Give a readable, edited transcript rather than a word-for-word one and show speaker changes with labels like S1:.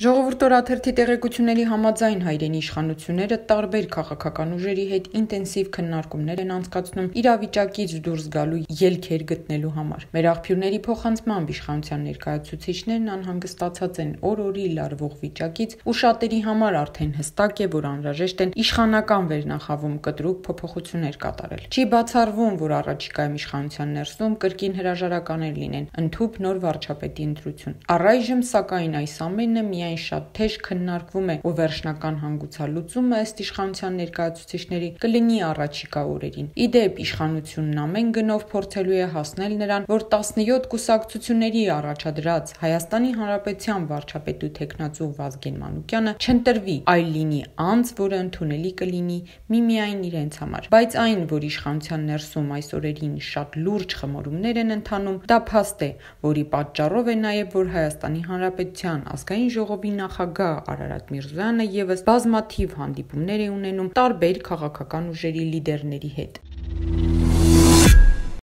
S1: Ժողովուրդ օրաթերթի տեղեկությունների համաձայն հայրենի իշխանությունները տարբեր քաղաքական ուժերի հետ ինտենսիվ քննարկումներ են անցկացնում իրավիճակից դուրս գալու ելքեր գտնելու համար։ Մեր աղբյուրների փոխանցմամբ իշխանության ներկայացուցիչներն անհանգստացած են օր-օրի լարվող վիճակից ու շատերի համար արդեն հստակ է, որ անհրաժեշտ են իշխանական վերնախավում կտրուկ փոփոխություններ կատարել։ Չի բացառվում, որ առաջիկայում իշխանության ներսում կրկին հրաժարականներ լինեն, ընդհուպ նոր վարչապետի ընտրություն։ Առայժմ, սակայն, այս ամենը միայն շատ թեժ քննարկվում է ու վերջնական հանգուցալուծումը ըստ իշխանության ներկայացուցիչների կլինի առաջիկա օրերին։ Իդեպ, իշխանությունն ամեն գնով փորձելու է հասնել նրան, որ 17 կուսակցությունների առաջադրած Հայաստանի Հանրապետության վարչապետու թեկնածու Վազգեն Մանուկյանը չընտրվի, այլ լինի անձ, որը ընդունելի կլինի միմիայն իրենց համար։ Բայց այն, որ իշխանության ներսում այս օրերին շատ լուրջ խմորումներ են ընթանում, դա փաստ է, որի պատճառով է նաև, որ Հայաստանի Հանրապետության ազգային ժողովի նախագահ Արարատ Միրզոյանը ևս բազմաթիվ հանդիպումներ է ունենում տարբեր քաղաքական ուժերի լիդերների հետ։